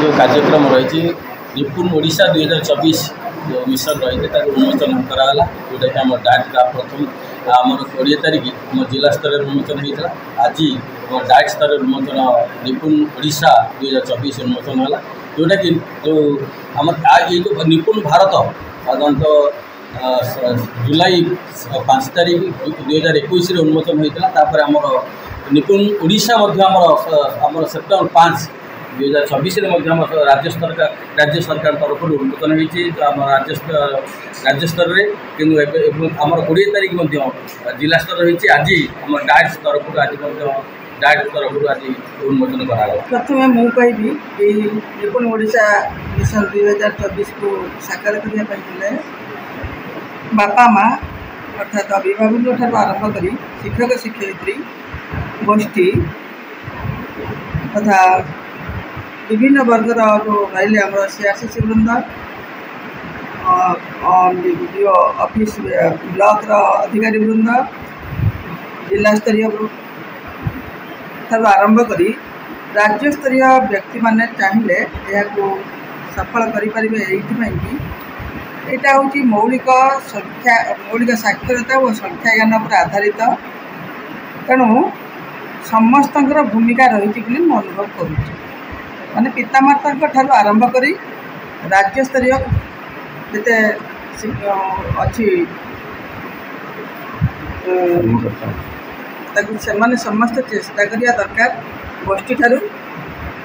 ଯେଉଁ କାର୍ଯ୍ୟକ୍ରମ ରହିଛି, ନିପୁଣ ଓଡ଼ିଶା 2024 ଯେଉଁ ମିଶନ ରହିଛି, ତାକୁ ଉନ୍ମୋଚନ କରାଗଲା, ଯେଉଁଟାକି ଆମ ଡାଏଟ୍ ପ୍ରଥମ ଆମର 20 ତାରିଖ ଆମ ଜିଲ୍ଲା ସ୍ତରରେ ଉନ୍ମୋଚନ ହୋଇଥିଲା। ଆଜି ଆମ ଡାଏଟ୍ ସ୍ତରରେ ଉନ୍ମୋଚନ, ନିପୁଣ ଓଡ଼ିଶା 2024 ଉନ୍ମୋଚନ ହେଲା, ଯେଉଁଟାକି ଯେଉଁ ଆମର ଏଇ ଯେଉଁ ନିପୁଣ ଭାରତ ସାଧାରଣତଃ ଜୁଲାଇ 5 ତାରିଖ 2021ରେ ଉନ୍ମୋଚନ ହୋଇଥିଲା। ତାପରେ ଆମର ନିପୁଣ ଓଡ଼ିଶା ମଧ୍ୟ ଆମର ସେପ୍ଟେମ୍ବର 5 2024ରେ ମଧ୍ୟ ଆମ ରାଜ୍ୟ ସରକାର ତରଫରୁ ଉନ୍ମୋଚନ ହୋଇଛି ଆମ ରାଜ୍ୟ ସ୍ତରରେ। କିନ୍ତୁ ଏବେ ଆମର 20 ତାରିଖ ମଧ୍ୟ ଜିଲ୍ଲା ସ୍ତରରେ ହୋଇଛି। ଆଜି ଆମ ଡାଏଟ୍ ତରଫରୁ, ଆଜି ମଧ୍ୟ ଡାଏଟ୍ ତରଫରୁ ଆଜି ଉନ୍ମୋଚନ କରାଗଲା। ପ୍ରଥମେ ମୁଁ କହିବି, ଏଇ ନିପୁଣ ଓଡ଼ିଶା ମିଶନ 2024କୁ ସାକାର କରିବା ପାଇଁ ହେଲେ ବାପା ମା, ଅର୍ଥାତ୍ ଅଭିଭାବକଙ୍କ ଠାରୁ ଆରମ୍ଭ କରି ଶିକ୍ଷକ ଶିକ୍ଷୟିତ୍ରୀ ଗୋଷ୍ଠୀ ତଥା ବିଭିନ୍ନ ବର୍ଗର ଯେଉଁ ରହିଲେ, ଆମର ସିଆର୍ସିସି ବୃନ୍ଦ, ବିଡିଓ ଅଫିସ୍, ବ୍ଲକର ଅଧିକାରୀ ବୃନ୍ଦ, ଜିଲ୍ଲାସ୍ତରୀୟ ଠାରୁ ଆରମ୍ଭ କରି ରାଜ୍ୟସ୍ତରୀୟ ବ୍ୟକ୍ତିମାନେ ଚାହିଁଲେ ଏହାକୁ ସଫଳ କରିପାରିବେ। ଏଇଥିପାଇଁ କି ଏଇଟା ହେଉଛି ମୌଳିକ ସଂଖ୍ୟା, ମୌଳିକ ସାକ୍ଷରତା ଓ ସଂଖ୍ୟା ଜ୍ଞାନ ଉପରେ ଆଧାରିତ। ତେଣୁ ସମସ୍ତଙ୍କର ଭୂମିକା ରହିଛି ବୋଲି ମୁଁ ଅନୁଭବ କରୁଛି। ମାନେ ପିତାମାତାଙ୍କ ଠାରୁ ଆରମ୍ଭ କରି ରାଜ୍ୟସ୍ତରୀୟ ଯେତେ ଅଛି, ତାକୁ ସେମାନେ ସମସ୍ତେ ଚେଷ୍ଟା କରିବା ଦରକାର, ଗୋଷ୍ଠୀ ଠାରୁ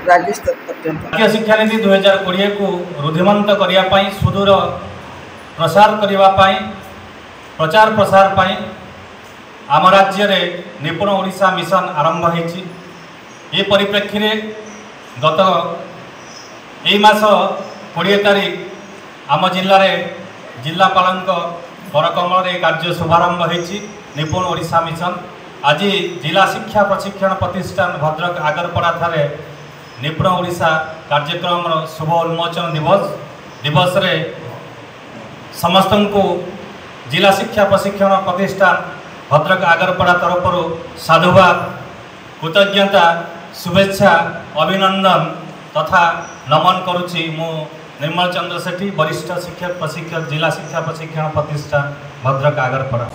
ରାଜ୍ୟସ୍ତର ପର୍ଯ୍ୟନ୍ତ। ଜାତୀୟ ଶିକ୍ଷାନୀତି 2020କୁ ରୁଦ୍ଧିମନ୍ତ କରିବା ପାଇଁ, ସୁଦୂର ପ୍ରସାର କରିବା ପାଇଁ, ପ୍ରଚାର ପ୍ରସାର ପାଇଁ ଆମ ରାଜ୍ୟରେ ନିପୁଣ ଓଡ଼ିଶା ମିଶନ ଆରମ୍ଭ ହୋଇଛି। ଏ ପରିପ୍ରେକ୍ଷୀରେ ଗତ ଏଇ ମାସ 20 ତାରିଖ ଆମ ଜିଲ୍ଲାରେ ଜିଲ୍ଲାପାଳଙ୍କ କରକମଳରେ ଏ କାର୍ଯ୍ୟ ଶୁଭାରମ୍ଭ ହୋଇଛି, ନିପୁଣ ଓଡ଼ିଶା ମିଶନ। ଆଜି ଜିଲ୍ଲା ଶିକ୍ଷା ପ୍ରଶିକ୍ଷଣ ପ୍ରତିଷ୍ଠାନ ଭଦ୍ରକ ଆଗରପଡ଼ାଠାରେ ନିପୁଣ ଓଡ଼ିଶା କାର୍ଯ୍ୟକ୍ରମର ଶୁଭ ଉନ୍ମୋଚନ ଦିବସରେ ସମସ୍ତଙ୍କୁ ଜିଲ୍ଲା ଶିକ୍ଷା ପ୍ରଶିକ୍ଷଣ ପ୍ରତିଷ୍ଠାନ ଭଦ୍ରକ ଆଗରପଡ଼ା ତରଫରୁ ସାଧୁବାଦ, କୃତଜ୍ଞତା, ଶୁଭେଚ୍ଛା, ଅଭିନନ୍ଦନ ତଥା ନମନ କରୁଛି। ମୁଁ ନିର୍ମଳ ଚନ୍ଦ୍ର ସେଠୀ, ବରିଷ୍ଠ ଶିକ୍ଷକ ପ୍ରଶିକ୍ଷକ, ଜିଲ୍ଲା ଶିକ୍ଷା ପ୍ରଶିକ୍ଷଣ ପ୍ରତିଷ୍ଠାନ ଭଦ୍ରକ ଆଗରପଡ଼ା।